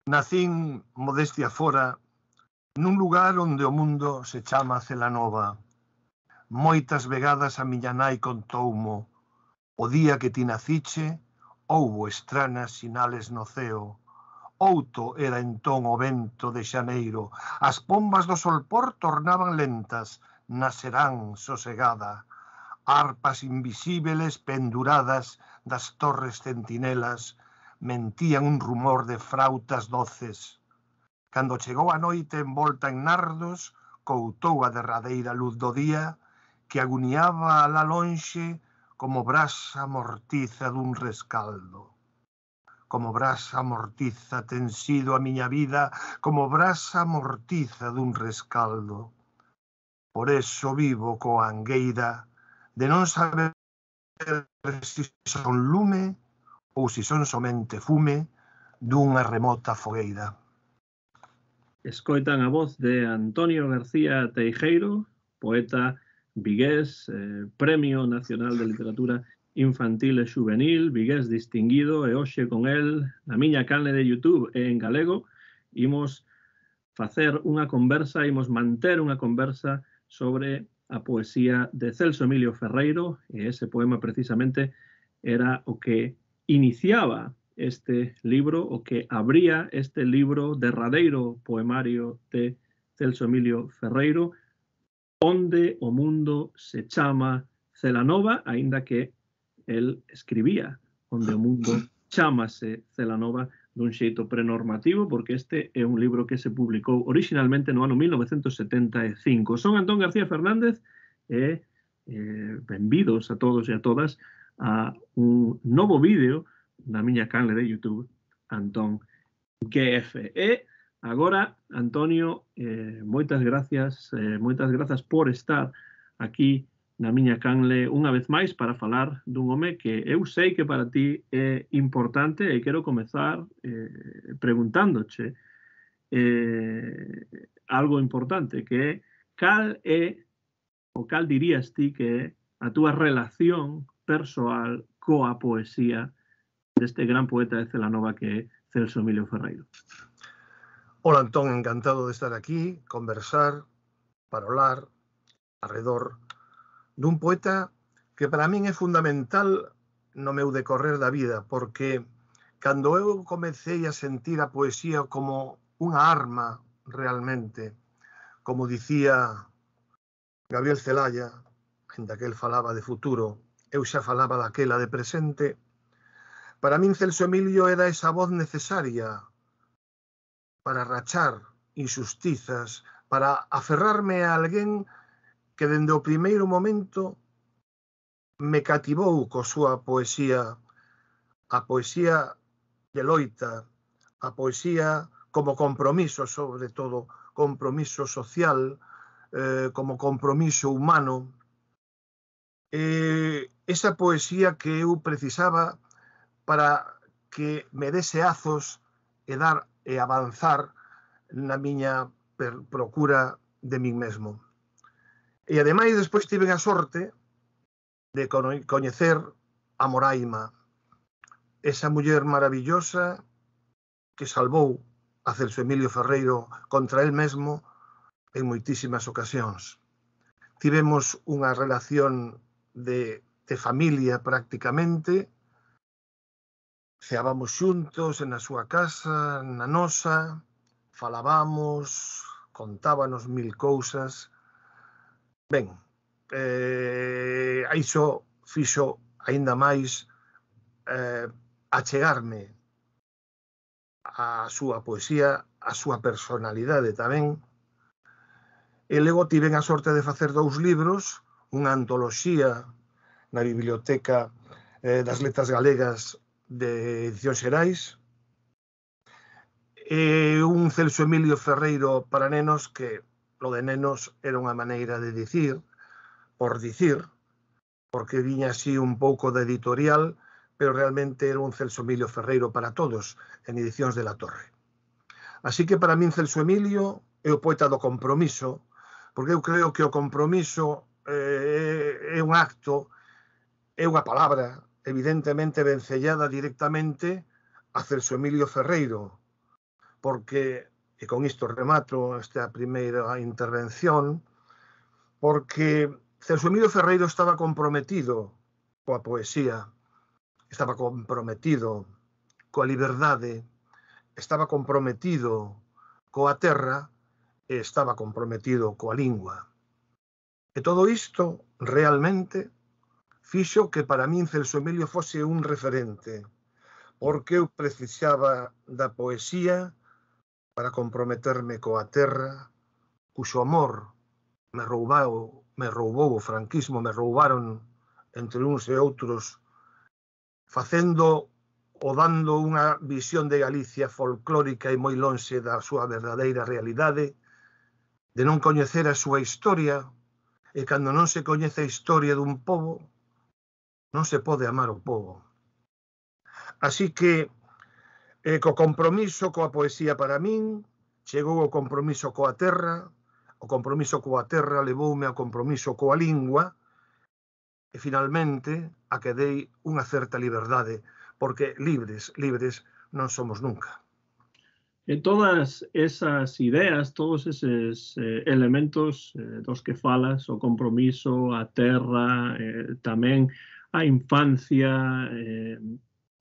Nacín, modestia fora, nun lugar onde o mundo se chama Celanova. Moitas vegadas a miña nai contoumo: o día que ti naciche, houbo estranas sinales no ceo. Outo era entón o vento de xaneiro, as pombas do solpor tornaban lentas, na serán sosegada. Arpas invisíbeles penduradas das torres centinelas mentían un rumor de frautas doces. Cando chegou a noite envolta en nardos, coutou a derradeira luz do día, que aguniaba alá lonxe como brasa mortiza dun rescaldo. Como brasa mortiza ten sido a miña vida, como brasa mortiza dun rescaldo. Por eso vivo coa angueira de non saber se son lume ou se son somente fume dunha remota fogueira. Escoitan a voz de Antonio García Teijeiro, poeta vigués, Premio Nacional de Literatura Infantil e Juvenil, vigués distinguido, e hoxe con el, na miña canle de YouTube e en galego, imos facer unha conversa, imos manter unha conversa sobre a poesía de Celso Emilio Ferreiro, e ese poema precisamente era o que iniciaba este libro, o que abría este libro derradeiro poemario de Celso Emilio Ferreiro, onde o mundo se chama Celanova, aínda que el escribía onde o mundo chámase Celanova dun xeito prenormativo, porque este é un libro que se publicou originalmente no ano 1975. Son Antón García Fernández e benvidos a todos e a todas a un novo vídeo na miña canle de YouTube, Antón GF. E agora, Antonio, moitas grazas por estar aquí na miña canle unha vez máis para falar dun home que eu sei que para ti é importante, e quero comezar preguntándoche algo importante, que é cal é ou cal dirías ti que é a túa relación persoal coa poesía deste gran poeta de Celanova que é Celso Emilio Ferreiro. Hola, Antón, encantado de estar aquí, conversar, parolar, arredor dun poeta que para min é fundamental no meu decorrer da vida, porque cando eu comecei a sentir a poesía como unha arma realmente, como dicía Gabriel Celaya, ainda que el falaba de futuro, eu xa falaba daquela de presente, para min Celso Emilio era esa voz necesaria para rachar injustizas, para aferrarme a alguén que dende o primeiro momento me cativou co súa poesía, a poesía de loita, a poesía como compromiso, sobre todo, compromiso social, como compromiso humano. Esa poesía que eu precisaba para que me dese azos e dar e avanzar na miña procura de min mesmo. E ademais despois tiven a sorte de coñecer a Moraima, esa muller maravillosa que salvou a Celso Emilio Ferreiro contra el mesmo en moitísimas ocasións. Tivemos unha relación de familia prácticamente, ceábamos xuntos na súa casa, na nosa, falábamos, contábanos mil cousas. Ben, iso fixo aínda máis achegarme a súa poesía, a súa personalidade tamén. E logo tiven a sorte de facer 2 libros, unha antoloxía na Biblioteca das Letras Galegas de Edicións Xerais, e un Celso Emilio Ferreiro para nenos que lo de nenos era unha maneira de dicir, por dicir, porque viña así un pouco da editorial, pero realmente era un Celso Emilio Ferreiro para todos, en Edicións de la Torre. Así que para min Celso Emilio é o poeta do compromiso, porque eu creo que o compromiso é un acto, é unha palabra, evidentemente vencellada directamente a Celso Emilio Ferreiro, porque, e con isto remato esta primeira intervención, porque Celso Emilio Ferreiro estaba comprometido coa poesía, estaba comprometido coa liberdade, estaba comprometido coa terra e estaba comprometido coa lingua. E todo isto realmente fixo que para min Celso Emilio fose un referente, porque eu precisaba da poesía para comprometerme coa terra, cuxo amor me roubou o franquismo, me roubaron entre uns e outros, facendo ou dando unha visión de Galicia folclórica e moi lonxe da súa verdadeira realidade, de non coñecer a súa historia, e cando non se coñece a historia dun pobo, non se pode amar o pobo. Así que, co compromiso coa poesía para min, chegou o compromiso coa terra, o compromiso coa terra levoume ao compromiso coa lingua, e finalmente a que dei unha certa liberdade, porque libres non somos nunca. E todas esas ideas, todos eses elementos dos que falas, o compromiso, a terra, tamén a infancia,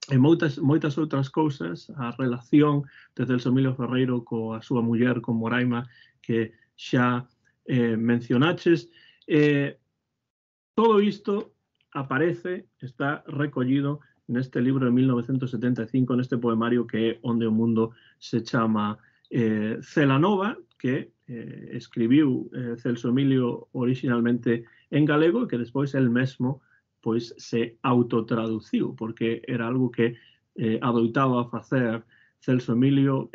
e moitas outras cousas, a relación de Celso Emilio Ferreiro coa súa muller, con Moraima, que xa mencionaches. Todo isto aparece, está recollido neste libro de 1975, neste poemario que é Onde o mundo se chama Celanova, que escribiu Celso Emilio originalmente en galego, e que despois el mesmo pois se autotraduciu, porque era algo que adoitaba facer Celso Emilio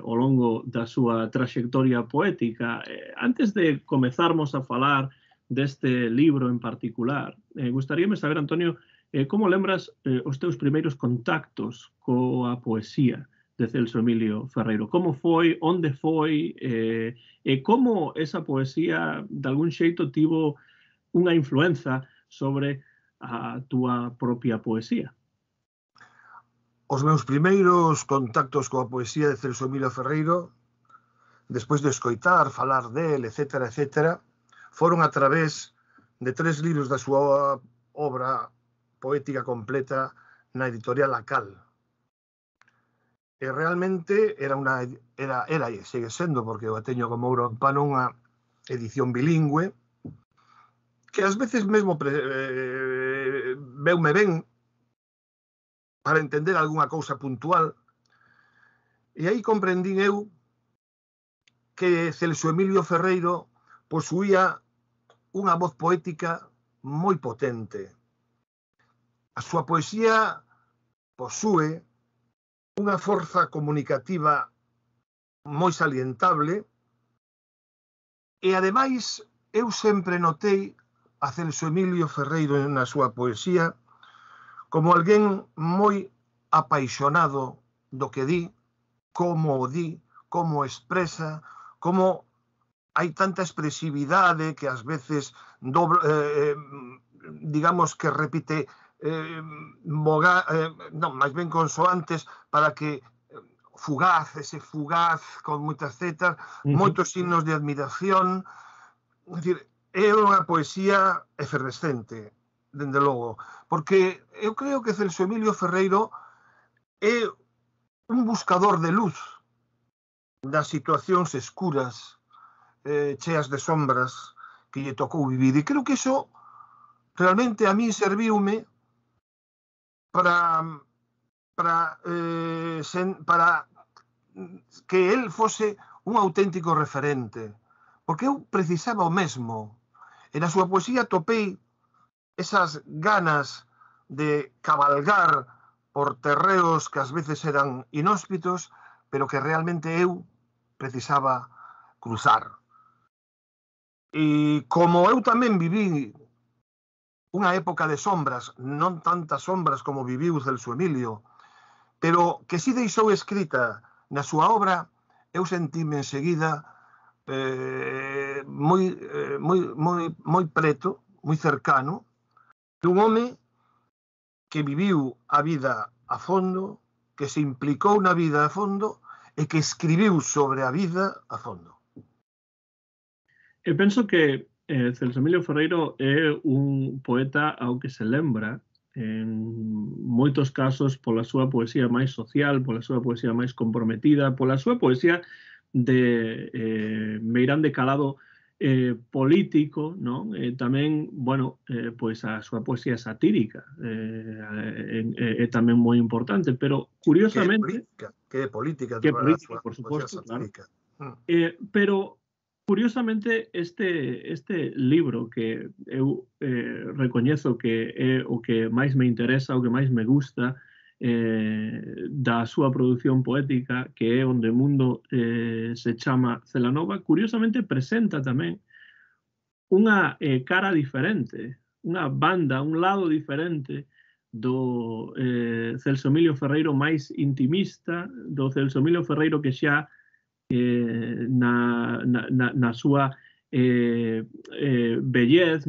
ao longo da súa traxectoria poética. Antes de comezarmos a falar deste libro en particular, gustaríame saber, Antonio, como lembras os teus primeiros contactos coa poesía de Celso Emilio Ferreiro? Como foi, onde foi, e como esa poesía de algún xeito tivo unha influenza sobre a túa propia poesía? Os meus primeiros contactos coa poesía de Celso Emilio Ferreiro, despois de escoitar, falar del, etcétera, etcétera, foron a través de 3 libros da súa obra poética completa na editorial Acal. E realmente era e segue sendo, porque eu a teño como ouro en pano, unha edición bilingüe, que ás veces mesmo veume ben para entender algunha cousa puntual, e aí comprendín eu que Celso Emilio Ferreiro posuía unha voz poética moi potente. A súa poesía posúe unha forza comunicativa moi salientable e, ademais, eu sempre notei a Celso Emilio Ferreiro na súa poesía como alguén moi apaixonado do que di, como o di, como expresa, como hai tanta expresividade que ás veces digamos que repite máis ben consoantes para que ese fugaz con moitas zetas, moitos signos de admiración. É dicir, é unha poesía efervescente, dende logo, porque eu creo que Celso Emilio Ferreiro é un buscador de luz das situacións escuras, cheas de sombras que lle tocou vivir, e creo que iso realmente a min serviume para que el fose un auténtico referente, porque eu precisaba o mesmo, e na súa poesía topei esas ganas de cabalgar por terreos que ás veces eran inhóspitos, pero que realmente eu precisaba cruzar. E como eu tamén viví unha época de sombras, non tantas sombras como viviu Celso Emilio, pero que si deixou escrita na súa obra, eu sentime enseguida moi preto, moi cercano, dun home que viviu a vida a fondo, que se implicou na vida a fondo e que escribiu sobre a vida a fondo. Eu penso que Celso Emilio Ferreiro é un poeta ao que se lembra en moitos casos pola súa poesía máis social, pola súa poesía máis comprometida, pola súa poesía de meirán de calado político, non? Tamén, bueno, pois a súa poesía satírica é tamén moi importante, pero curiosamente... Que é política Que é toda a política, súa por poesía suposto, claro. satírica. Pero, curiosamente, este libro que eu recoñezo que é o que máis me interesa, o que máis me gusta da súa produción poética, que é Onde o mundo se chama Celanova, curiosamente presenta tamén unha cara diferente, unha banda, un lado diferente do Celso Emilio Ferreiro máis intimista, do Celso Emilio Ferreiro que xa na súa bellez,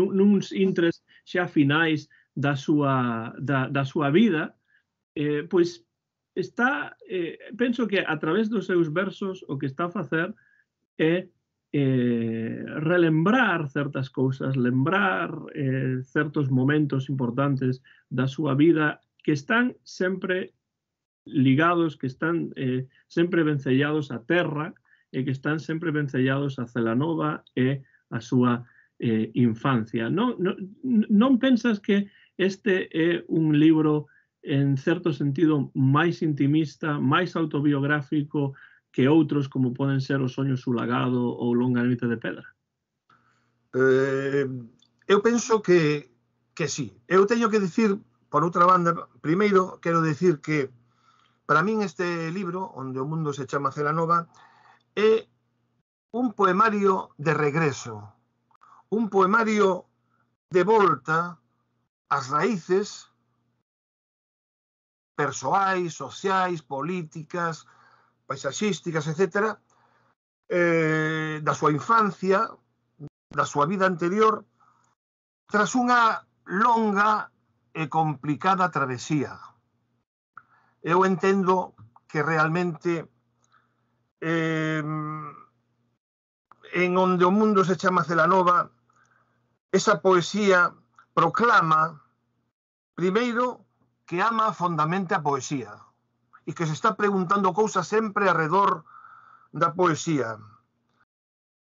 nuns intres xa finais da súa vida, pois está, penso que a través dos seus versos o que está a facer é relembrar certas cousas, lembrar certos momentos importantes da súa vida que están sempre ligados, que están sempre vencellados á terra e que están sempre vencellados a Celanova e a súa infancia. Non pensas que este é un libro en certo sentido máis intimista, máis autobiográfico que outros como poden ser O soño sulagado ou Longa noite de pedra? Eu penso que sí. Eu teño que dicir, por outra banda, primeiro quero dicir que para min este libro, Onde o mundo se chama Celanova, é un poemario de regreso, un poemario de volta ás raíces persoais, sociais, políticas, paisaxísticas, etc., da súa infancia, da súa vida anterior, tras unha longa e complicada travesía. Eu entendo que realmente en Onde o mundo se chama Celanova, esa poesía proclama, primeiro, que ama fondamente a poesía e que se está preguntando cousas sempre alrededor da poesía.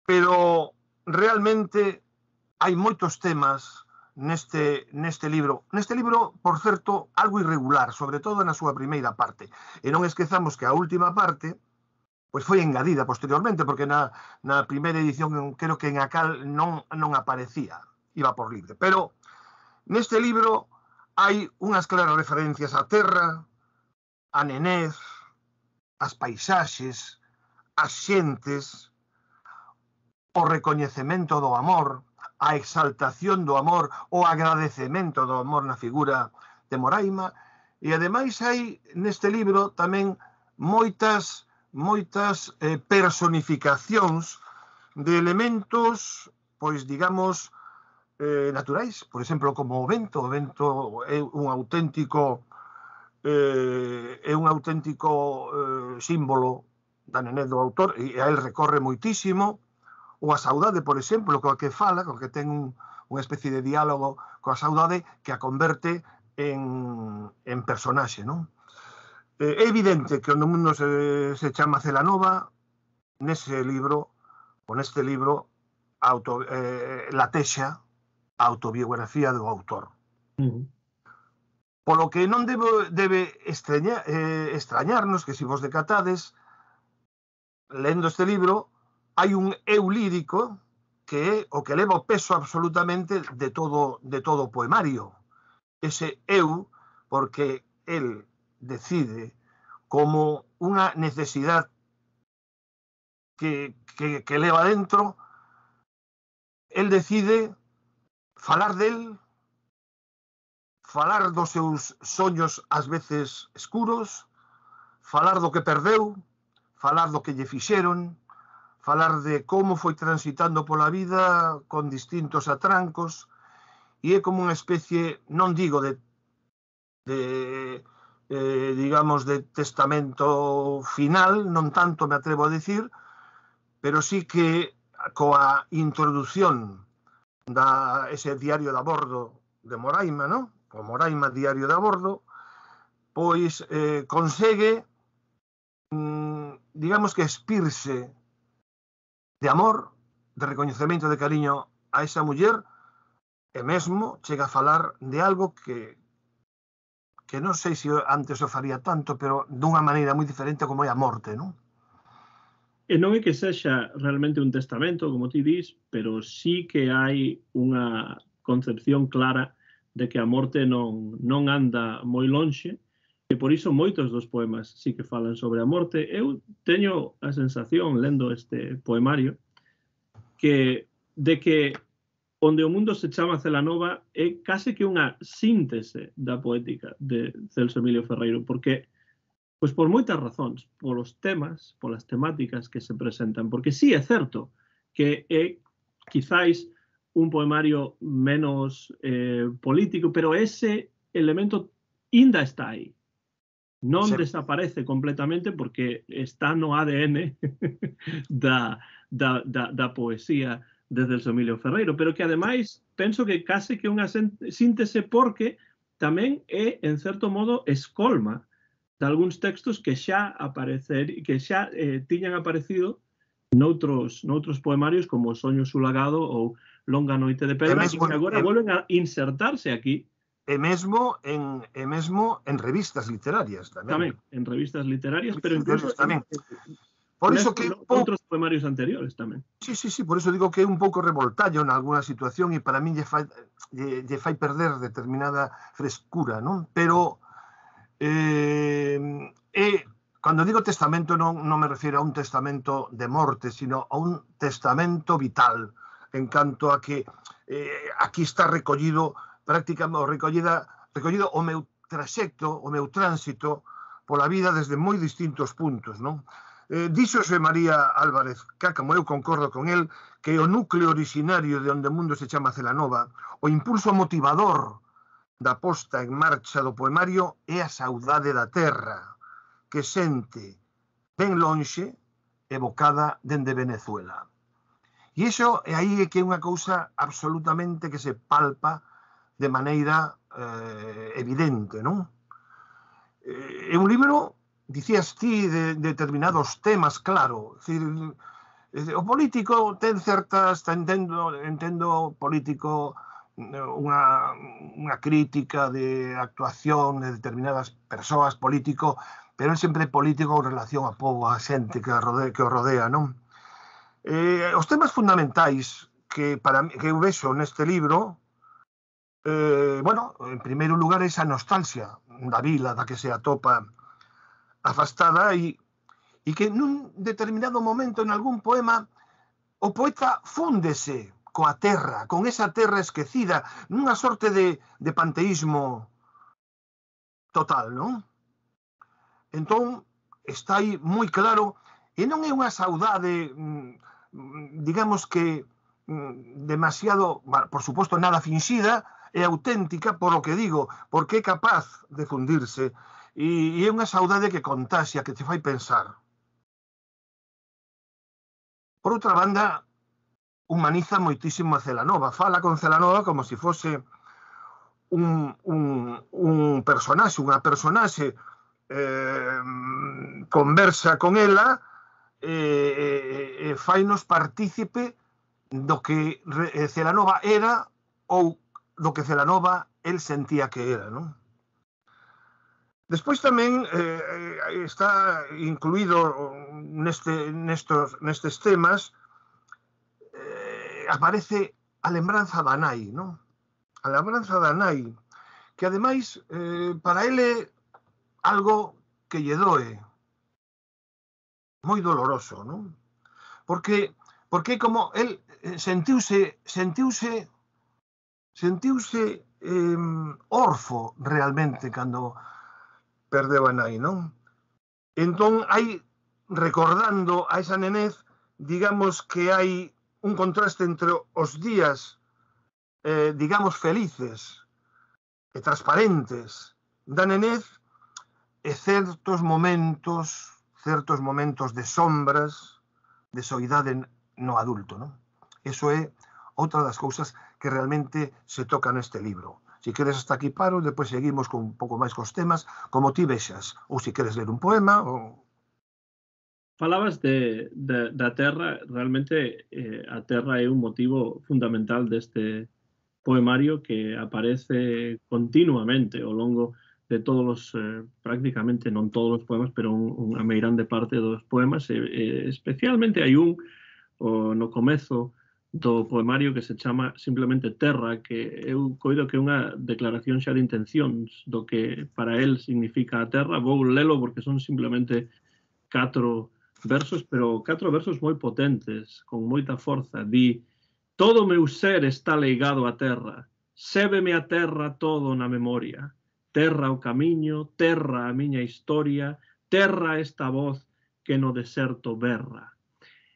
Pero realmente hai moitos temas neste libro. Neste libro, por certo, algo irregular, sobre todo na súa primeira parte. E non esquezamos que a última parte pois foi engadida posteriormente, porque na primeira edición creo que en Acal non aparecía, iba por libre. Pero neste libro hai unhas claras referencias á terra, á nenez, ás paisaxes, ás xentes, o recoñecemento do amor, a exaltación do amor, o agradecemento do amor na figura de Moraima, e ademais hai neste libro tamén moitas personificacións de elementos, pois digamos, naturais, por exemplo, como o vento. O vento é un auténtico símbolo da nenez do autor, e a él recorre moitísimo. Ou a saudade, por exemplo, coa que fala, coa que ten unha especie de diálogo coa saudade que a converte en personaxe, non? É evidente que Onde o mundo se chama Celanova, neste libro latexa a autobiografía do autor. Polo que non debe extrañarnos que, se vos decatades, lendo este libro, hai un eu lírico que é o que leva o peso absolutamente de todo o poemario. Ese eu, porque el decide como unha necesidade que leva dentro, el decide falar del, falar dos seus soños ás veces escuros, falar do que perdeu, falar do que lle fixeron, falar de como foi transitando pola vida con distintos atrancos, e é como unha especie, non digo de digamos, de testamento final, non tanto me atrevo a decir, pero sí que coa introdución ese diario de a bordo de Moraima, ¿no? O Moraima Diario de a bordo, pois consegue, digamos que expirse de amor, de recoñecemento, de cariño a esa muller, e mesmo chega a falar de algo que non sei se antes o faría tanto, pero dunha maneira moi diferente como é a morte, non? E non é que sexa realmente un testamento, como ti dis, pero sí que hai unha concepción clara de que a morte non anda moi lonxe, e por iso moitos dos poemas sí que falan sobre a morte. Eu teño a sensación, lendo este poemario, de que Onde o mundo se chama Celanova é case que unha síntese da poética de Celso Emilio Ferreiro, porque pois por moitas razóns, polos temas, polas temáticas que se presentan, porque sí é certo que é quizáis un poemario menos político, pero ese elemento ainda está aí. Non desaparece completamente porque está no ADN da poesía de Celso Emilio Ferreiro, pero que ademais penso que case que unha síntese porque tamén é, en certo modo, escolma de algúns textos que xa tiñan aparecido noutros poemarios como Soño sulagado ou Longa noite de pedra, e que agora volven a insertarse aquí. E mesmo en revistas literarias tamén. Tamén, en revistas literarias, pero incluso tamén. Por iso que outros poemarios anteriores tamén. Sí, por iso digo que é un pouco revoltallo en alguna situación e para min lle fai perder determinada frescura, non? Pero cando digo testamento non me refiro a un testamento de morte, sino a un testamento vital, en canto a que aquí está recollido recollido o meu traxecto, o meu tránsito pola vida desde moi distintos puntos, non? Dixo Xosé María Álvarez, que como eu concordo con el, que o núcleo originario de onde o mundo se chama Celanova, o impulso motivador da posta en marcha do poemario é a saudade da terra, que sente ben lonxe, evocada dende Venezuela. E iso é aí que é unha cousa absolutamente que se palpa de maneira evidente, non? É un libro, dicías ti, de determinados temas, claro. O político ten certas, entendo político unha crítica de actuación de determinadas persoas, político, pero é sempre político en relación ao povo, a xente que o rodea, non? Os temas fundamentais que eu vexo neste libro, en primeiro lugar, esa nostalgia da vila da que se atopa afastada e que nun determinado momento, en algún poema, o poeta fúndese coa terra, con esa terra esquecida, nunha sorte de panteísmo total, non? Entón, está aí moi claro, e non é unha saudade, digamos que demasiado, por suposto, nada finxida, é auténtica polo que digo, porque é capaz de fundirse, e é unha saudade que contaxia, que te fai pensar. Por outra banda, humaniza moitísimo a Celanova, fala con Celanova como se fose un personaxe, unha personaxe, conversa con ela e fainos partícipe do que Celanova era ou do que Celanova el sentía que era, non? Despois tamén está incluído nestes temas, aparece a lembranza da nai, non? A lembranza da nai, que ademais para ele algo que lle doe, moi doloroso, non? Porque como el sentiuse orfo realmente cando perdeu a nai, non? Entón, recordando a esa nenez, digamos que hai un contraste entre os días, digamos, felices e transparentes da nenez e certos momentos de sombras, de soidade no adulto, non? Eso é outra das cousas que realmente se toca neste libro. Se queres hasta aquí paro, depois seguimos con un pouco máis cos temas, como ti vexas, ou se queres ler un poema, ou... Falabas da terra, realmente a terra é un motivo fundamental deste poemario que aparece continuamente ao longo de todos os, prácticamente non todos os poemas, pero unha meirande parte dos poemas, especialmente hai un no comezo do poemario que se chama simplemente Terra, que eu coido que é unha declaración xa de intencións do que para el significa a terra. Vou lelo porque son simplemente 4 versos, pero 4 versos moi potentes, con moita forza. Di: todo meu ser está ligado á terra, sébeme a terra todo na memoria. Terra o camiño, terra a miña historia, terra esta voz que no deserto berra.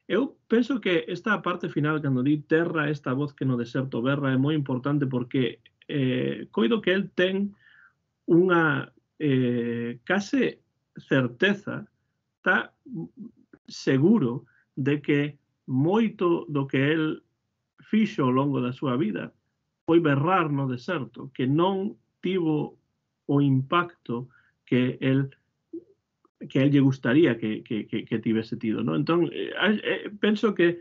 Eu penso que esta parte final, cando di terra esta voz que no deserto berra, é moi importante porque coido que el ten unha case certeza, está seguro de que moito do que el fixo ao longo da súa vida foi berrar no deserto, que non tivo o impacto que el lle gustaría que tivese tido, non? Entón, penso que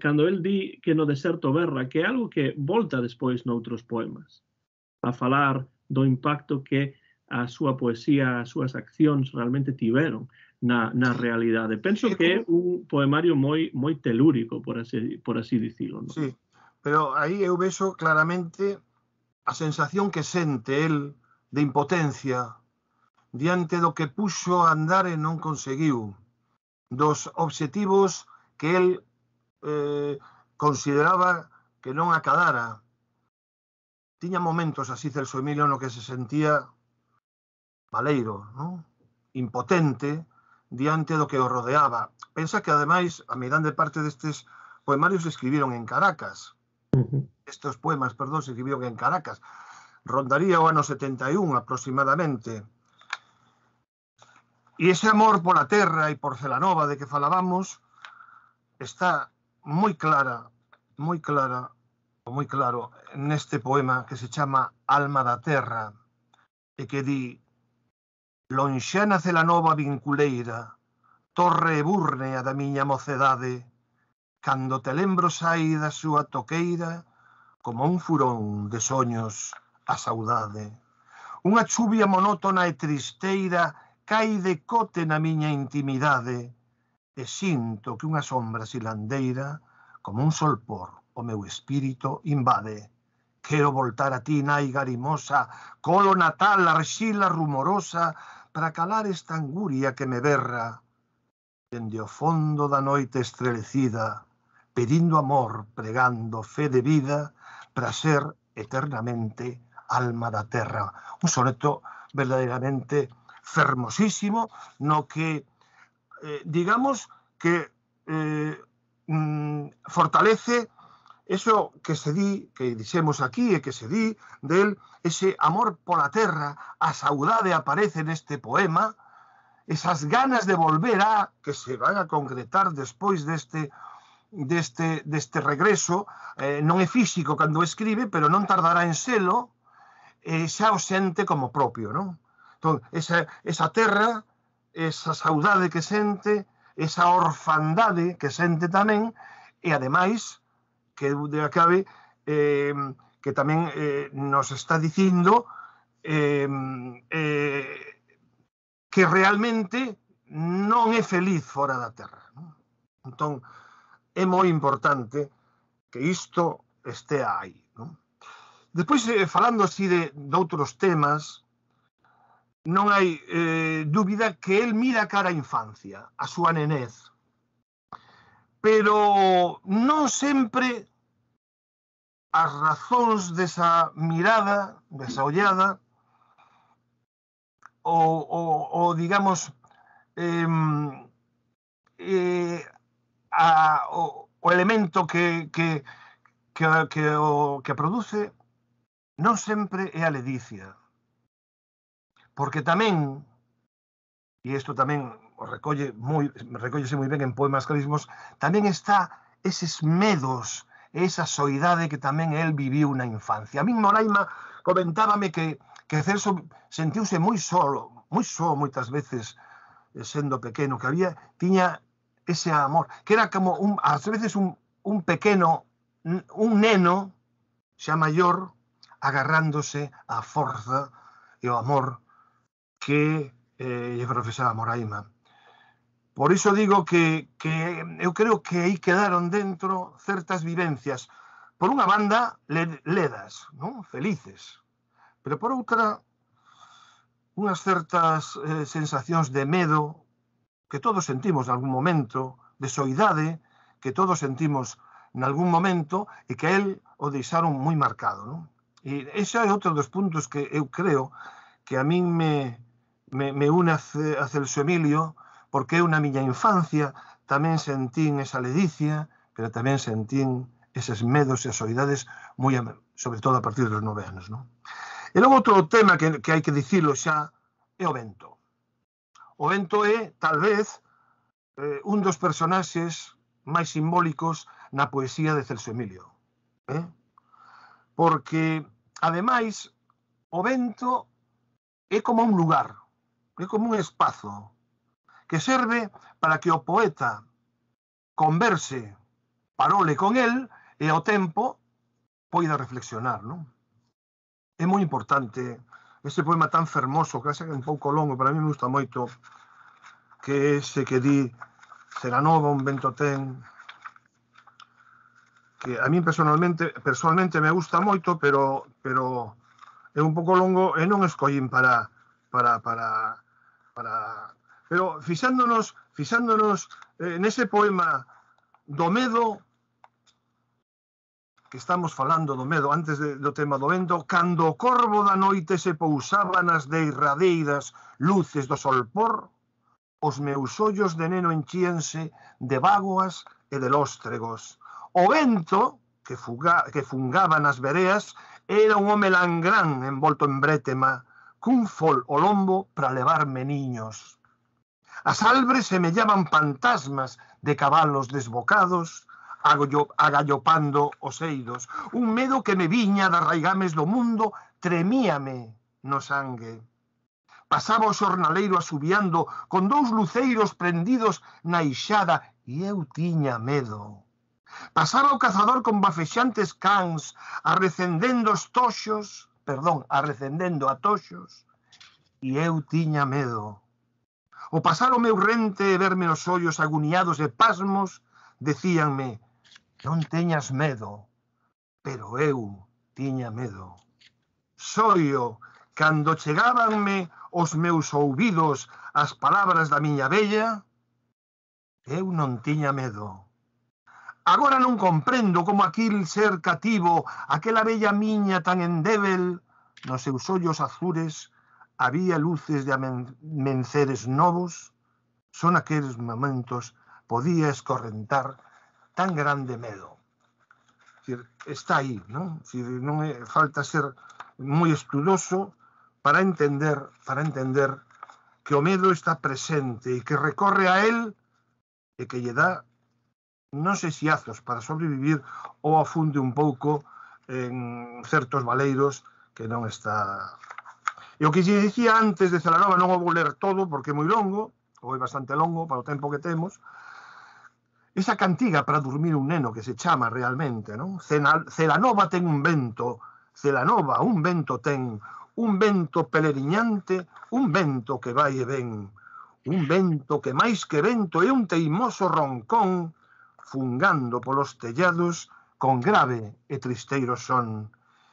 cando el di que no deserto berra, que é algo que volta despois noutros poemas, a falar do impacto que a súa poesía, as súas accións realmente tiveron na realidade. Penso que é un poemario moi telúrico, por así dicilo. Non? Sí, pero aí eu vexo claramente a sensación que sente el de impotencia diante do que puxo a andar e non conseguiu, dos obxectivos que el consideraba que non acadara. Tiña momentos así Celso Emilio no que se sentía baleiro, non? Impotente diante do que o rodeaba. Pensa que, ademais, a meirande parte destes poemarios se escribiron en Caracas. Estes poemas, perdón, se escribiron en Caracas. Rondaría o ano 71 aproximadamente. E ese amor pola terra e por Celanova de que falábamos está moi claro neste poema que se chama Alma da Terra e que di: lonxana Celanova vinculeira, torre e búrnea da miña mocedade, cando te lembro sai da súa toqueira como un furón de soños a saudade. Unha chuvia monótona e tristeira cai de cote na miña intimidade e sinto que unha sombra silandeira como un solpor o meu espírito invade. Quero voltar a ti, nai garimosa, colo natal, arxila rumorosa, para calar esta anguria que me berra dende o fondo da noite estrelecida, pedindo amor, pregando fe de vida, para ser eternamente alma da terra. Un soneto verdadeiramente fermosísimo, no que, digamos, que fortalece eso que se di, que dixemos aquí e que se di del, ese amor pola terra, a saudade aparece neste poema, esas ganas de volver a, que se van a concretar despois deste regreso, non é físico cando escribe, pero non tardará en selo, xa o sente como propio, non? Entón, esa terra, esa saudade que sente, esa orfandade que sente tamén, e ademais, que de acabe, que tamén nos está dicindo que realmente non é feliz fora da terra. Non? Entón, é moi importante que isto estea aí. Non? Despois, falando así de outros temas, non hai dúbida que el mira cara a infancia, a súa nenez. Pero non sempre as razóns desa mirada, desa ollada, o digamos, o elemento que produce non sempre é a ledicia. porque tamén, e isto tamén recóllese moi ben en Poemas Clarísimos, tamén está eses medos, esa soidade que tamén el viviu na infancia. A min Moraima comentábame que Celso sentiuse moi só moitas veces sendo pequeno, que tiña ese amor, que era como ás veces un pequeno, un neno xa maior, agarrándose á forza e ao amor que lle profesaba Moraima. Por iso digo que eu creo que aí quedaron dentro certas vivencias, por unha banda ledas, non? Felices, pero por outra unhas certas sensacións de medo que todos sentimos nalgún momento, de soidade que todos sentimos nalgún momento e que a él o deixaron moi marcado, non? E ese é outro dos puntos que eu creo que a min me une a Celso Emilio, porque eu na miña infancia tamén sentín esa ledicia, pero tamén sentín eses medos e soidades, sobre todo a partir dos 9 anos, non? E logo outro tema que hai que dicilo xa é o vento. O vento é, tal vez, un dos personaxes máis simbólicos na poesía de Celso Emilio. Porque, ademais, o vento é como un lugar, é como un espazo que serve para que o poeta converse, parole con el e ao tempo poida reflexionar, non? É moi importante ese poema tan fermoso, que é un pouco longo, para mí me gusta moito, que ese que di Celanova, un vento ten, que a mí personalmente me gusta moito, pero é un pouco longo e non escollín para pero fixándonos nese poema do medo, que estamos falando do medo antes do tema do vento, cando o corvo da noite se pousaba nas derradeiras luces do solpor, os meus ollos de neno enchíanse de bágoas e de lóstregos. O vento, que fungaba nas vereas, era un home langrán envolto en brétema, cun fol o lombo para levarme niños. As albres semellaban fantasmas de cabalos desbocados, agallopando os eidos. Un medo que me viña das raigames do mundo tremíame no sangue. Pasaba o xornaleiro asubiando con 2 luceiros prendidos na ixada e eu tiña medo. Pasaba o cazador con bafexantes cans arrecendendo a toxos e eu tiña medo. O pasar o meu rente e verme os ollos aguniados e pasmos decíanme: non teñas medo, pero eu tiña medo. Soio, cando chegábanme os meus ouvidos as palabras da miña vella, eu non tiña medo. Agora non comprendo como aquil ser cativo, aquela vella miña tan endébil, nos seus ollos azules había luces de amenceres novos, son aqueles momentos podía escorrentar tan grande medo. Está aí, non? Non falta ser moi estudoso para entender que o medo está presente e que recorre a él e que lle dá non sei se azos para sobrevivir ou afunde un pouco en certos valeiros que non está... E o que lle dicía antes de Celanova, non o vou ler todo porque é moi longo, ou é bastante longo para o tempo que temos, esa cantiga para dormir un neno que se chama realmente, non? Celanova ten un vento, Celanova un vento ten, un vento peleriñante, un vento que vai e ven, un vento que máis que vento é un teimoso roncón fungando polos tellados con grave e tristeiro son.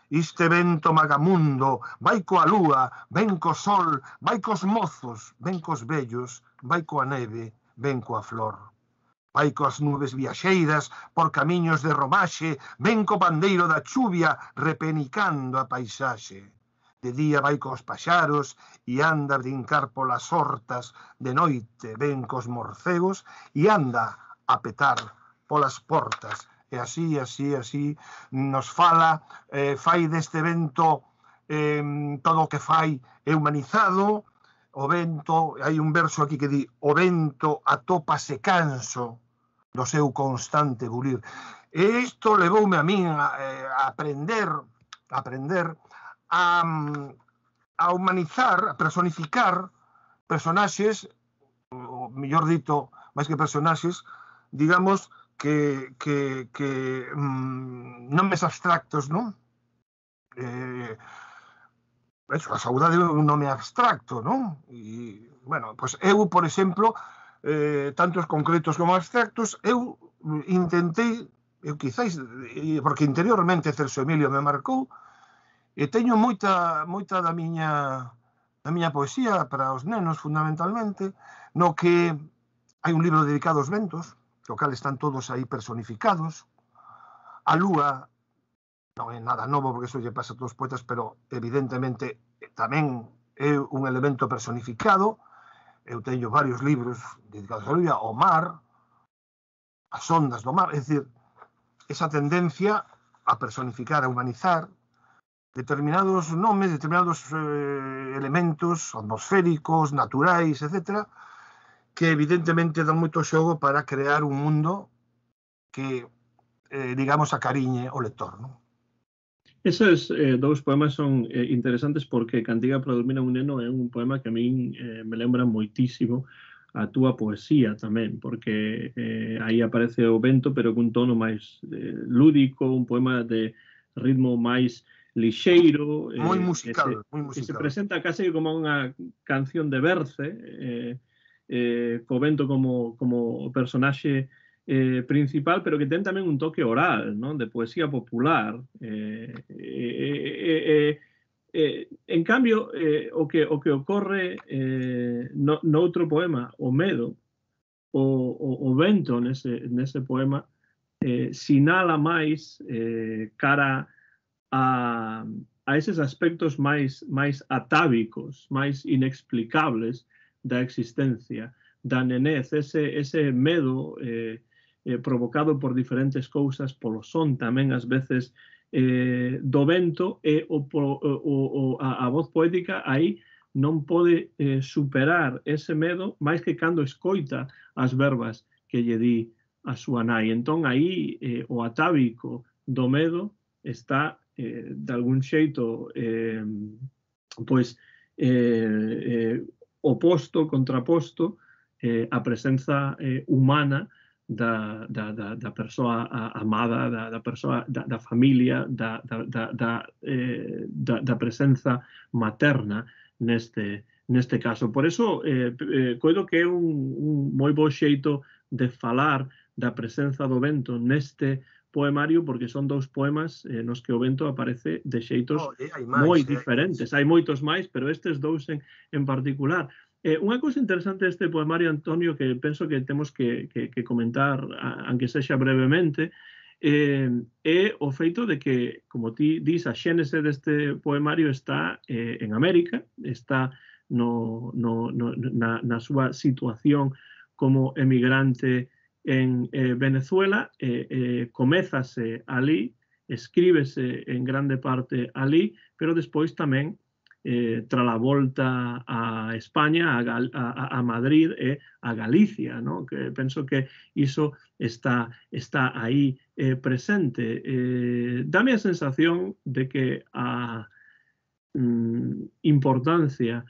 Iste vento magamundo vai coa lúa, ven co sol, vai cos mozos, ven cos vellos, vai coa neve, ven coa flor. Vai coas nubes viaxeiras por camiños de romaxe, ven co pandeiro da chuvia repenicando a paisaxe. De día vai cos paxaros e anda a brincar polas hortas, de noite ven cos morcegos e anda a petar polas portas. E así nos fala, fai deste vento todo o que fai é humanizado, o vento, hai un verso aquí que di, o vento atópase canso do seu constante bulir. E isto levoume a min a aprender a humanizar, a personificar personaxes, ou mellor dito, máis que personaxes, digamos que nomes abstractos, non? Eso, a saudade é un nome abstracto, non? E, bueno, pois eu, por exemplo, tantos concretos como abstractos, eu intentei, quizáis, porque interiormente Celso Emilio me marcou, e teño moita da miña poesía para os nenos, fundamentalmente, no que hai un libro dedicado aos ventos, no cal están todos aí personificados. A lúa non é nada novo, porque iso lle pasa a todos os poetas, pero evidentemente tamén é un elemento personificado. Eu teño varios libros dedicados a lúa, ao mar, as ondas do mar, é dicir, esa tendencia a personificar, a humanizar determinados nomes, determinados elementos atmosféricos, naturais, etc., que evidentemente dan moito xogo para crear un mundo que, digamos, acariñe o lector, non? Esos dous poemas son interesantes porque Cantiga para dormir a un neno é un poema que a min me lembra moitísimo a túa poesía tamén, porque aí aparece o vento, pero cun tono máis lúdico, un poema de ritmo máis lixeiro, moi musical, moi que se musical. presenta case como unha canción de Berce, co vento como personaxe principal, pero que ten tamén un toque oral, non? De poesía popular. En cambio, o que ocorre noutro poema, o medo, o vento nese poema, sinala máis cara a eses aspectos máis atávicos, máis inexplicables da existencia, da nenez, ese medo provocado por diferentes cousas, polo son tamén ás veces do vento, e a voz poética aí non pode superar ese medo máis que cando escoita as verbas que lle di a súa nai. Entón aí o atávico do medo está de algún xeito pois oposto, contraposto a presenza humana da persoa amada, da persoa, da familia, da presenza materna neste caso. Por eso, coido que é un moi bo xeito de falar da presenza do vento neste poemario, porque son dous poemas nos que o vento aparece de xeitos moi diferentes. Hai moitos máis, pero estes dous en particular. Unha cousa interesante deste poemario, Antonio, que penso que temos que comentar, aunque sexa brevemente, é o feito de que, como ti dis, a xénese deste poemario está en América, está na súa situación como emigrante en Venezuela, comézase ali, escríbese en grande parte ali, pero despois tamén tras a volta a España, a Madrid e a Galicia, ¿no? Que penso que iso está aí presente. Dame a sensación de que a importancia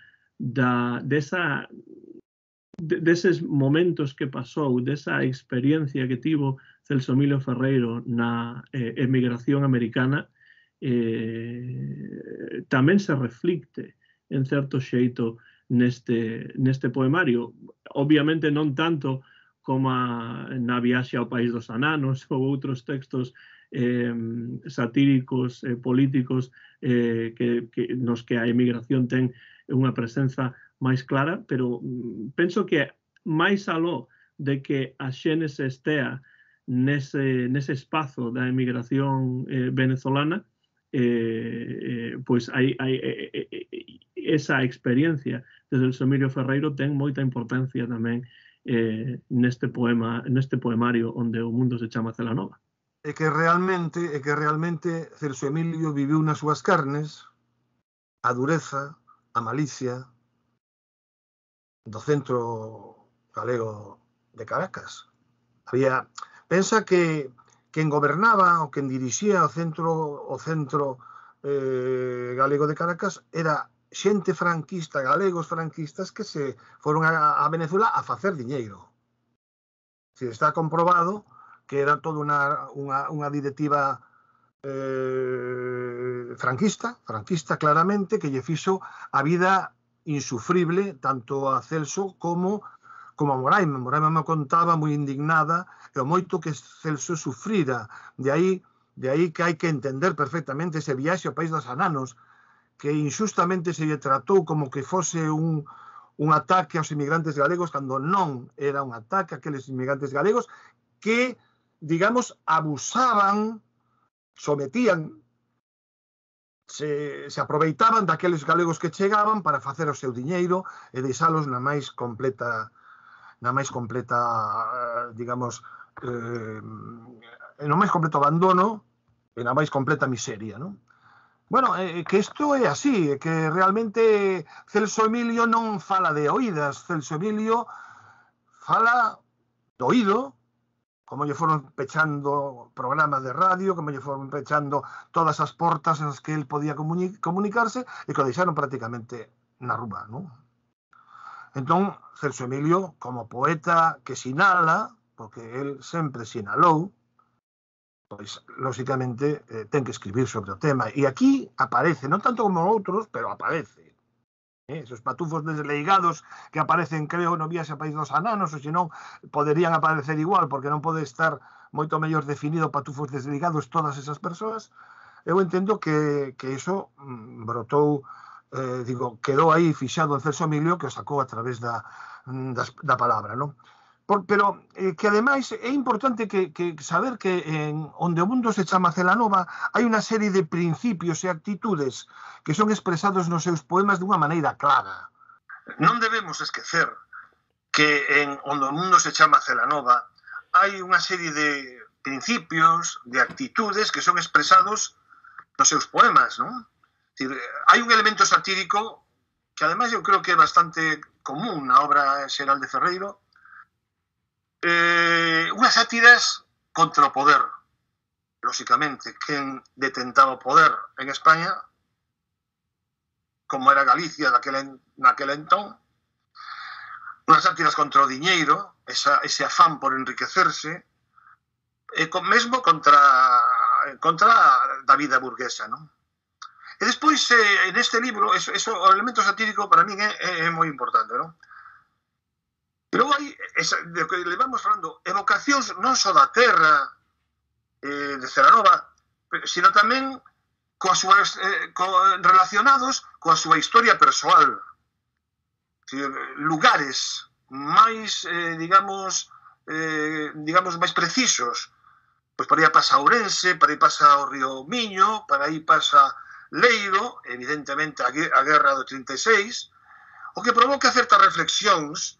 deses momentos que pasou, desa experiencia que tivo Celso Emilio Ferreiro na emigración americana, tamén se reflicte en certo xeito neste poemario. Obviamente non tanto como na Viaxe ao País dos Ananos ou outros textos satíricos, políticos, nos que a emigración ten unha presenza máis clara, pero penso que máis aló de que a xénese estea nese espazo da emigración venezolana, pois hai esa experiencia de Celso Emilio Ferreiro ten moita importancia tamén neste poemario onde o mundo se chama Celanova. É que realmente Celso Emilio viviu nas súas carnes a dureza, a malicia do centro galego de Caracas. Pensa que quen gobernaba ou quen dirixía o centro galego de Caracas era xente franquista, galegos franquistas que se foron a Venezuela a facer diñeiro. Está comprobado que era toda unha directiva franquista claramente, que lle fixo a vida insufrible tanto a Celso como a Moraima. Moraima me contaba moi indignada e o moito que Celso sufrira. De aí que hai que entender perfectamente ese viaxe ao País dos Ananos, que injustamente se lle tratou como que fose un ataque aos inmigrantes galegos, cando non era un ataque a aqueles inmigrantes galegos que, digamos, abusaban, sometían, se aproveitaban daqueles galegos que chegaban para facer o seu diñeiro e deixalos na máis completa, digamos, no máis completo abandono e na máis completa miseria, non? Bueno, que isto é así, que realmente Celso Emilio non fala de oídas, Celso Emilio fala do oído, como lle foron pechando programas de radio, como lle foron pechando todas as portas nas que el podía comunicarse e que o deixaron prácticamente na rúa, non? Entón, Celso Emilio, como poeta que sinala, porque el sempre sinalou, pois, lóxicamente, ten que escribir sobre o tema. E aquí aparece, non tanto como outros, pero aparece. Esos patufos desleigados que aparecen, creo, no Viaxe ao País dos Ananos, ou senón poderían aparecer igual, porque non pode estar moito mellor definido patufos desleigados todas esas persoas. Eu entendo que iso brotou, quedou aí fixado en Celso Emilio, que o sacou a través da palabra, non? Pero que ademais é importante que saber que onde o mundo se chama Celanova hai unha serie de principios e actitudes que son expresados nos seus poemas dunha maneira clara. Non debemos esquecer que onde o mundo se chama Celanova hai unha serie de principios, de actitudes que son expresados nos seus poemas, non? Hai un elemento satírico que ademais eu creo que é bastante común na obra xeral de Ferreiro, unhas sátiras contra o poder, lóxicamente, quen detentaba o poder en España, como era Galicia naquel entón, unhas sátiras contra o diñeiro, ese afán por enriquecerse, e mesmo contra a vida burguesa, non? E despois, neste libro, o elemento satírico para min é moi importante, non? Pero hai, do que levamos falando, evocacións non só da terra de Celanova, sino tamén relacionados coa súa historia persoal. Lugares máis, digamos, máis precisos. Pois para aí pasa Ourense, para aí pasa o río Miño, para aí pasa Leiro, evidentemente a guerra do 36, o que provoca certas reflexións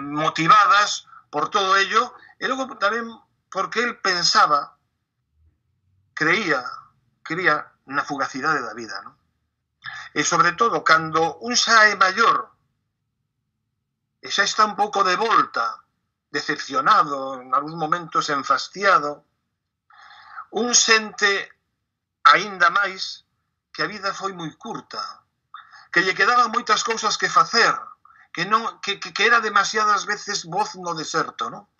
motivadas por todo ello, e logo tamén porque el pensaba, creía na fugacidade da vida, non? E sobre todo, cando un xa é maior e xa está un pouco de volta, decepcionado, en algúns momentos enfastiado, un sente aínda máis que a vida foi moi curta, que lle quedaban moitas cousas que facer, que era demasiadas veces voz no deserto, non?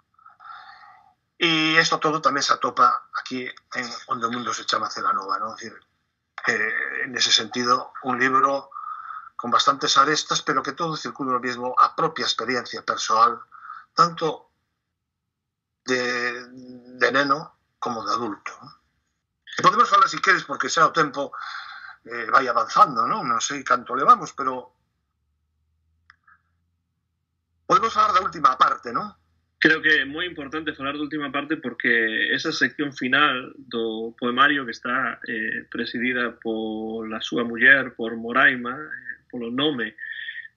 E isto todo tamén se atopa aquí en onde o mundo se chama Celanova, non? Nese sentido, un libro con bastantes arestas, pero que todo circula mesmo a propia experiencia persoal, tanto de neno como de adulto. E podemos falar, se queres, porque xa o tempo vai avanzando, non? Non sei canto levamos, pero podemos falar da última parte, non? Creo que é moi importante falar da última parte porque esa sección final do poemario que está presidida pola súa muller, por Moraima, polo nome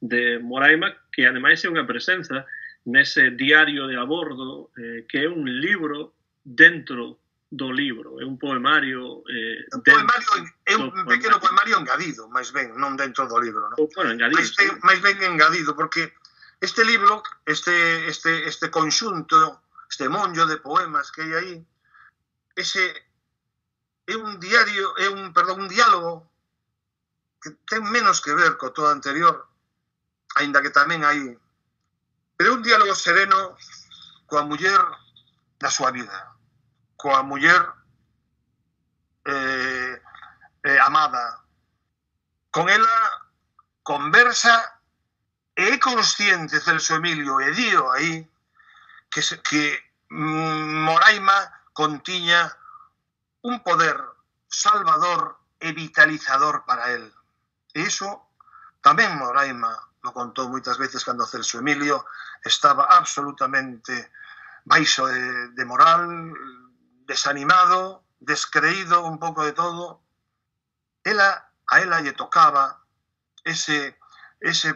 de Moraima, que ademais é unha presenza nese diario de a bordo, que é un libro dentro do libro? É un poemario... Un poemario é un pequeno poemario engadido, máis ben, non dentro do libro, non? Bueno, engadido. Máis ben engadido, porque este libro, este conxunto, este monllo de poemas que hai aí, ese é un diario, un diálogo que ten menos que ver co todo anterior, aínda que tamén hai, pero un diálogo sereno coa muller da súa vida, coa muller amada. Con ela conversa e é consciente Celso Emilio, e dío aí, que Moraima contiña un poder salvador e vitalizador para él. E iso tamén Moraima lo contou moitas veces cando Celso Emilio estaba absolutamente baixo de moral, desanimado, descreído un pouco de todo. A ela lle tocaba ese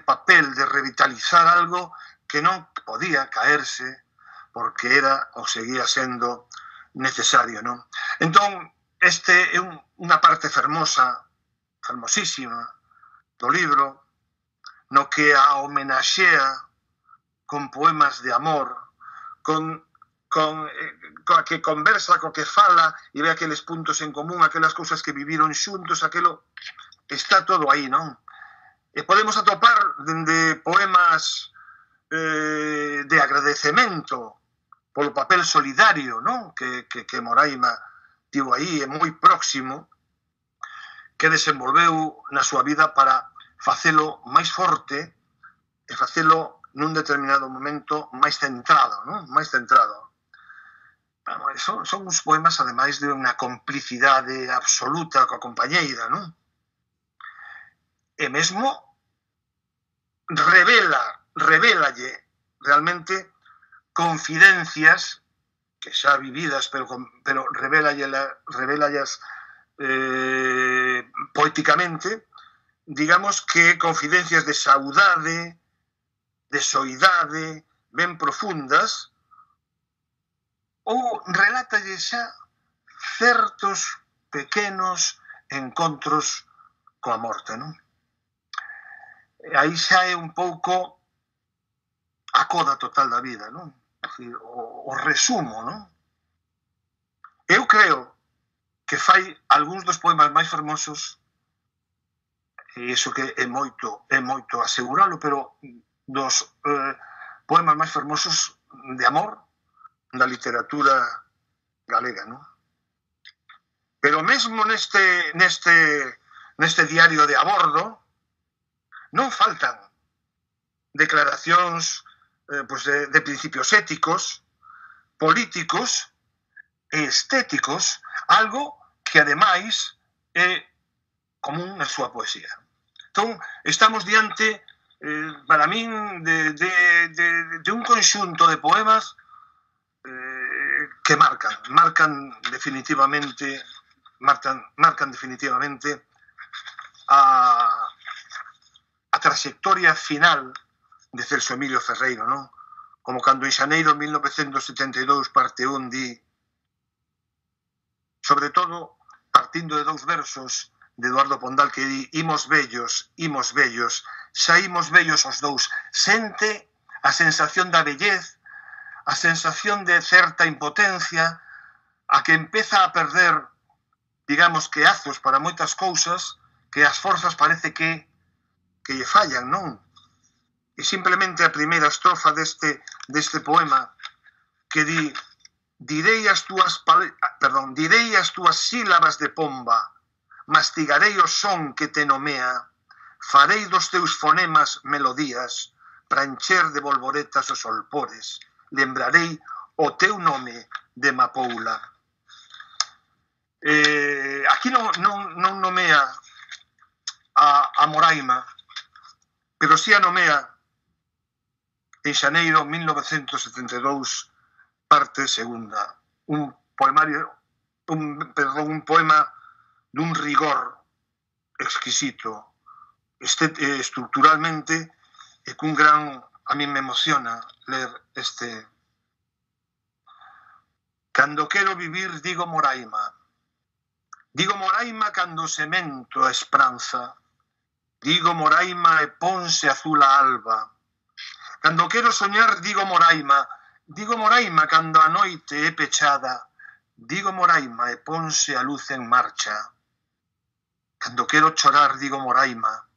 papel de revitalizar algo que non podía caerse porque era ou seguía sendo necesario, non? Entón, este é unha parte fermosa, fermosísima do libro, no que a homenaxea con poemas de amor, coa que conversa, co que fala e ve aqueles puntos en común, aquelas cousas que viviron xuntos, aquelo está todo aí, non? E podemos atopar dende poemas de agradecemento polo papel solidario, non? Que Moraima tivo aí, é moi próximo, que desenvolveu na súa vida para facelo máis forte e facelo nun determinado momento máis centrado, non? Máis centrado. Son uns poemas, ademais, de unha complicidade absoluta coa compañeira, non? E mesmo revélalle realmente confidencias que xa vividas, pero revélallas poéticamente, digamos que confidencias de saudade, de soidade, ben profundas, ou relátalle xa certos pequenos encontros coa morte, non? Aí xa é un pouco a coda total da vida, non? O resumo, non? Eu creo que fai algúns dos poemas máis fermosos, e iso que é moito aseguralo, pero dos poemas máis fermosos de amor da literatura galega, non? Pero mesmo neste diario de a bordo non faltan declaracións de principios éticos, políticos e estéticos, algo que ademais é común na súa poesía. Entón, estamos diante, para min, de un conxunto de poemas que marcan definitivamente a trayectoria final de Celso Emilio Ferreiro, non? Como cando en xaneiro de 1972 parte un di, sobre todo partindo de dous versos de Eduardo Pondal que di: imos vellos, xa imos vellos os dous. Sente a sensación da vellez, a sensación de certa impotencia, a que empeza a perder, digamos, que azos para moitas cousas, que as forzas parece que lle fallan, non? E simplemente a primeira estrofa deste poema que di: direi as túas sílabas de pomba, mastigarei o son que te nomea, farei dos teus fonemas melodías, para encher de bolboretas os olpores, lembrarei o teu nome de mapoula. Aquí non nomea a Moraima, pero si a nomea en xaneiro 1972, parte segunda. Un poema dun rigor exquisito, estructuralmente, e cun gran... A mí me emociona ler Cando quero vivir digo Moraima. Digo Moraima cando semento a esperanza. Digo Moraima e ponse azul a alba. Cando quero soñar digo Moraima. Digo Moraima cando a noite é pechada. Digo Moraima e ponse a luz en marcha. Cando quero chorar digo Moraima.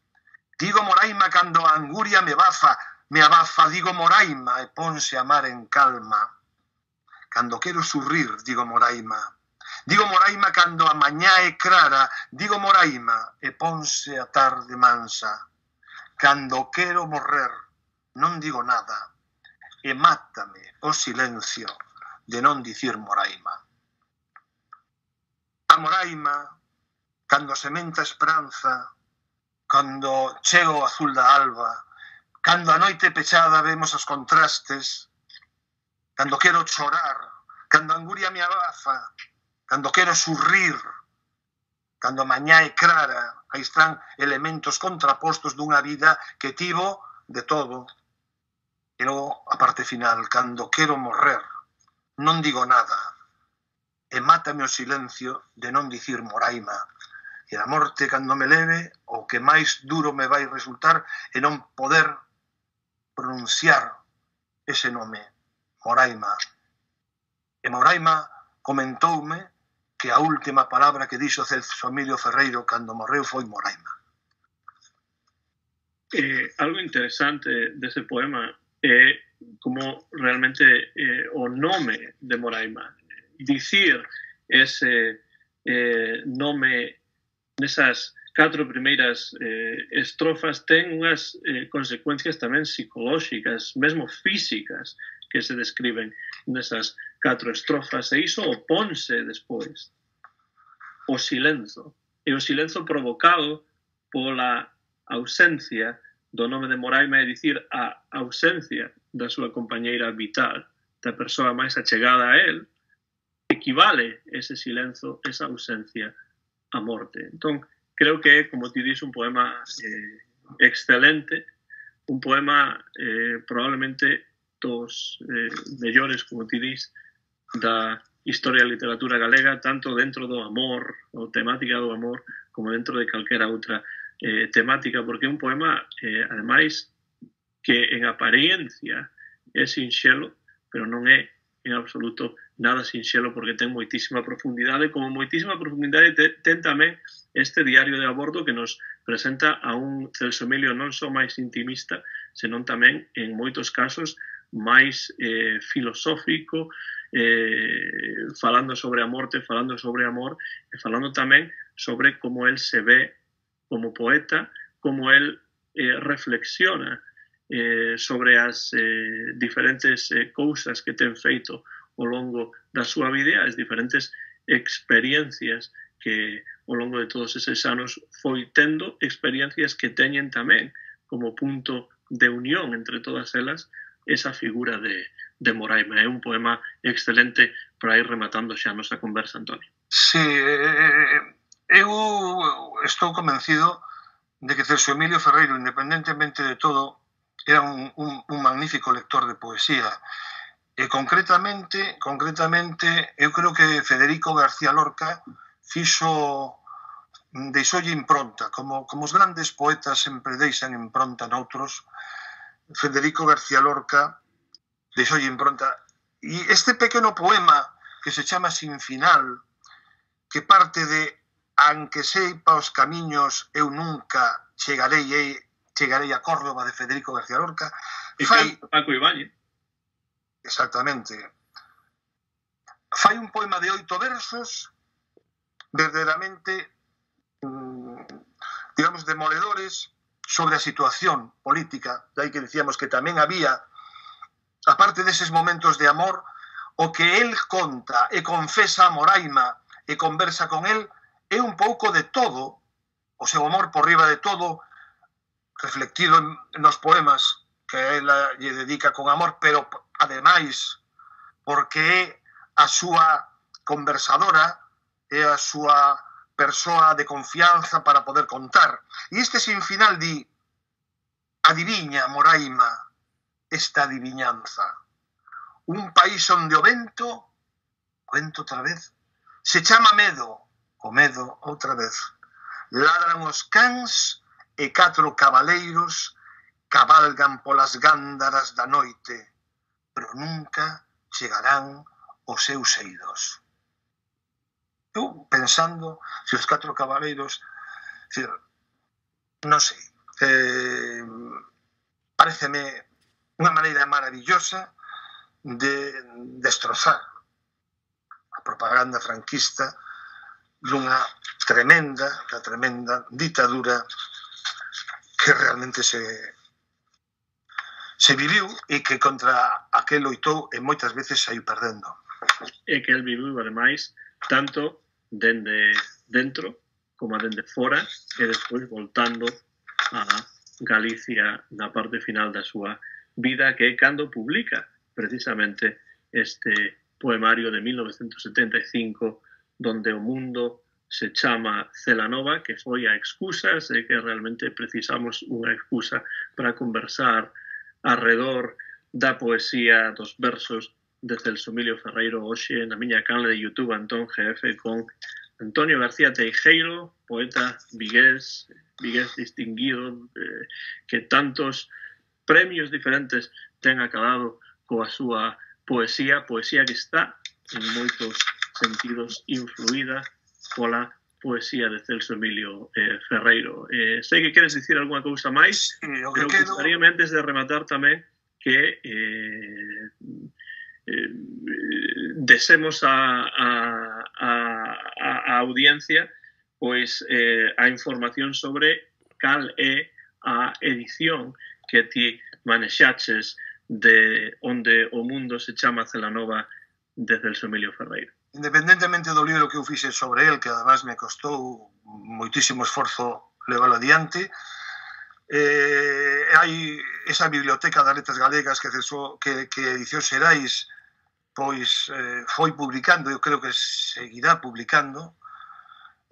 Digo Moraima cando a anguria me abafa. Digo Moraima e ponse a mar en calma. Cando quero surrir digo Moraima. Digo Moraima cando a mañá é clara. Digo Moraima e ponse a tarde mansa. Cando quero morrer non digo nada. E mátame o silencio de non dicir Moraima. A Moraima, cando sementa a esperanza, cando chego o azul da alba, cando a noite pechada vemos os contrastes, cando quero chorar, cando a anguria me abafa, cando quero surrir, cando a mañá é clara, aí están elementos contrapostos dunha vida que tivo de todo. E logo, a parte final, cando quero morrer, non digo nada, e mátame o silencio de non dicir Moraima. E a morte, cando me leve, o que máis duro me vai resultar é non poder pronunciar ese nome, Moraima. E Moraima comentoume que a última palabra que dixo Celso Emilio Ferreiro cando morreu foi Moraima. Algo interesante dese poema é como realmente o nome de Moraima. Dicir ese nome nesas 4 primeiras estrofas ten unhas consecuencias tamén psicolóxicas, mesmo físicas, que se describen nesas 4 estrofas, e iso oponse despois o silenzo, e o silenzo provocado pola ausencia do nome de Moraima, é dicir, a ausencia da súa compañeira vital, da persoa máis achegada a él, equivale ese silenzo, esa ausencia, a morte. Entón, creo que é, como ti dis, un poema excelente, un poema probablemente dos mellores, como ti dis, da historia da literatura galega, tanto dentro do amor, ou temática do amor, como dentro de calquera outra temática, porque é un poema, ademais, que en apariencia é sinxelo, pero non é en absoluto nada sinxelo, porque ten moitísima profundidade, como moitísima profundidade ten tamén este diario de a bordo que nos presenta a un Celso Emilio non só máis intimista, senón tamén, en moitos casos, máis filosófico, falando sobre a morte, falando sobre amor, e falando tamén sobre como el se ve como poeta, como el reflexiona sobre as diferentes cousas que ten feito ao longo da súa vida, as diferentes experiencias que ao longo de todos eses anos foi tendo, experiencias que teñen tamén como punto de unión entre todas elas esa figura de Moraima. É un poema excelente para ir rematando xa a nosa conversa, Antonio. Sí, eu estou convencido de que Celso Emilio Ferreiro, independentemente de todo, era un magnífico lector de poesía. E concretamente, eu creo que Federico García Lorca deixoulle impronta, como os grandes poetas sempre deixan impronta noutros. Federico García Lorca deixoulle impronta. E este pequeno poema que se chama Sin final, que parte de Anque seipa os camiños eu nunca chegarei a Córdoba, de Federico García Lorca, fai Paco Ibáñez. Exactamente. Fai un poema de 8 versos verdadeiramente digamos demoledores sobre a situación política. Dai que dicíamos que tamén había, aparte deses momentos de amor, o que el conta e confesa a Moraima e conversa con el é un pouco de todo, o seu amor por riba de todo, reflectido nos poemas que ela lle dedica con amor, pero ademais porque é a súa conversadora, é a súa persoa de confianza para poder contar. E este sin final di: adiviña, Moraima, esta adiviñanza. Un país onde o vento cuento outra vez, se chama medo, o medo outra vez. Ladran os cans e 4 cabaleiros cabalgan polas gándaras da noite, pero nunca chegarán os seus eidos. Eu pensando, se os 4 cabaleiros, non sei, pareceme unha maneira maravillosa de destrozar a propaganda franquista dunha tremenda ditadura que realmente se viviu e que contra a que loitou e moitas veces saiu perdendo. E que el viviu, ademais, tanto dende dentro como dende fora e despois voltando a Galicia na parte final da súa vida, que é cando publica precisamente este poemario de 1975 donde o mundo se chama Celanova, que foi a excusa, sei que realmente precisamos unha excusa para conversar arredor da poesía dos versos de Celso Emilio Ferreiro hoxe na miña canle de YouTube Antón GF con Antonio García Teijeiro, poeta vigués distinguido, que tantos premios diferentes ten acabado coa súa poesía que está en moitos sentidos influída pola poesía de Celso Emilio Ferreiro. Sei que queres dicir algunha cousa máis, pero gustaríame antes de rematar tamén que desemos a audiencia pois a información sobre cal é a edición que ti manexaches de onde o mundo se chama Celanova de Celso Emilio Ferreiro. Independentemente do libro que eu fixe sobre el, que además me costou moitísimo esforzo leválo adiante, hai esa biblioteca das letras galegas que Edicións Xerais pois foi publicando, eu creo que seguirá publicando,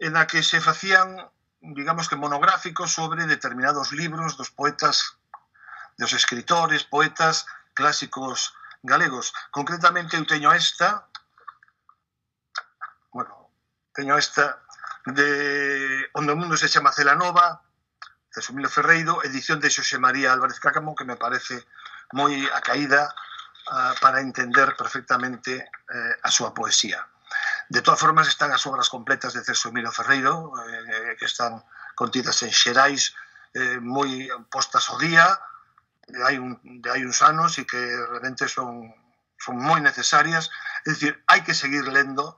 en a que se facían, digamos que monográficos sobre determinados libros dos poetas, dos escritores, poetas clásicos galegos. Concretamente eu teño esta de Onde o mundo se chama Celanova, Celso Emilio Ferreiro, edición de Xosé María Álvarez Cácamo, que me parece moi acaída para entender perfectamente a súa poesía. De todas formas, están as obras completas de Celso Emilio Ferreiro, que están contidas en Xerais, moi postas ao día, de hai uns anos, e que realmente son moi necesarias. É dicir, hai que seguir lendo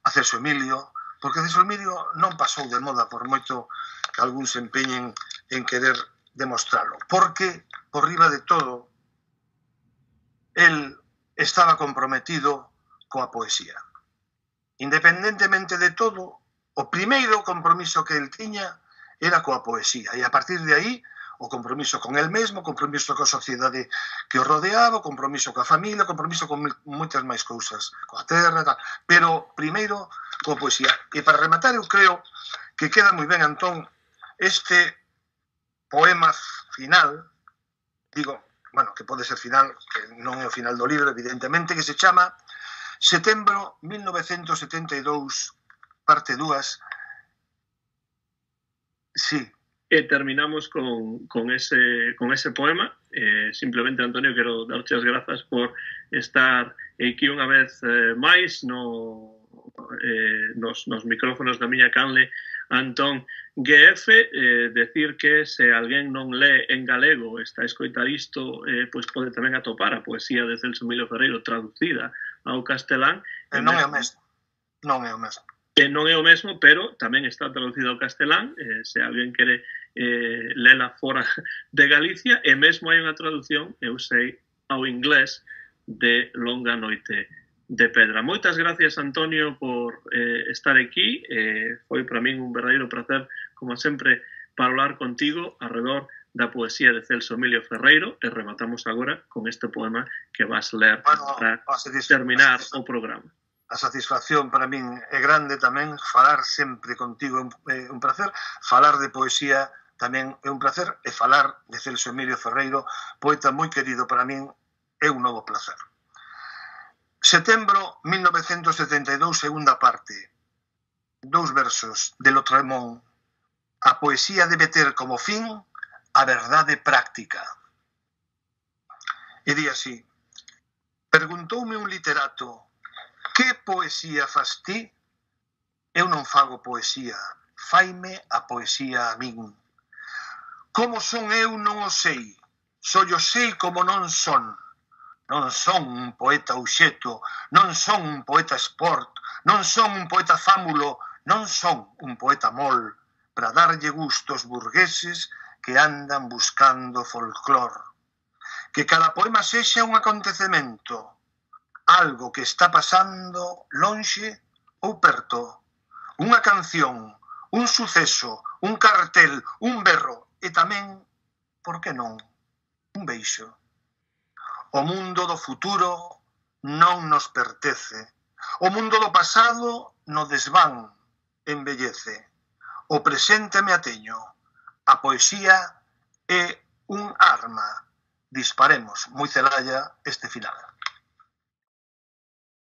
a Celso Emilio, porque Celso Emilio non pasou de moda, por moito que algúns se empeñen en querer demostrarlo, porque, por riba de todo, el estaba comprometido coa poesía. Independentemente de todo, o primeiro compromiso que el tiña era coa poesía, e a partir de aí, o compromiso con el mesmo, o compromiso coa sociedade que o rodeaba, o compromiso coa familia, o compromiso con moitas máis cousas, coa terra, tal, pero primeiro coa poesía. E para rematar, eu creo que queda moi ben, Antón, este poema final, digo, bueno, que pode ser final, que non é o final do libro, evidentemente, que se chama Setembro 1972, parte 2. Sí. E terminamos con ese poema. Simplemente, Antonio, quero darche as grazas por estar aquí unha vez máis nos micrófonos da miña canle Antón GF, decir que se alguén non lee en galego está a escoitar isto, pois pode tamén atopar a poesía de Celso Emilio Ferreiro traducida ao castelán. Non é o mesmo. Non é o mesmo. Non é o mesmo, pero tamén está traducido ao castelán, se alguén quere lela fora de Galicia, e mesmo hai unha traducción, eu sei, ao inglés de Longa Noite de Pedra. Moitas gracias, Antonio, por estar aquí. Foi para min un verdadeiro placer, como sempre, falar contigo arredor da poesía de Celso Emilio Ferreiro, e rematamos agora con este poema que vas ler para terminar o programa. A satisfacción para min é grande tamén, falar sempre contigo é un placer, falar de poesía tamén é un placer, e falar de Celso Emilio Ferreiro, poeta moi querido para min, é un novo placer. Setembro 1972, segunda parte. 2 versos de Lautréamont. A poesía debe ter como fin a verdade práctica. E di así: perguntoume un literato: que poesía fas ti? Eu non fago poesía, faime a poesía a min. Como son eu non o sei, só yo sei como non son. Non son un poeta uxeto, non son un poeta sport, non son un poeta fámulo, non son un poeta mol, para darlle gusto aos burgueses que andan buscando folclor. Que cada poema sexa un acontecemento, algo que está pasando lonxe ou perto, unha canción, un suceso, un cartel, un berro e tamén, por que non, un beixo. O mundo do futuro non nos pertence. O mundo do pasado no desván embellece. O presente me ateño. A poesía é un arma. Disparemos moi celalla este final.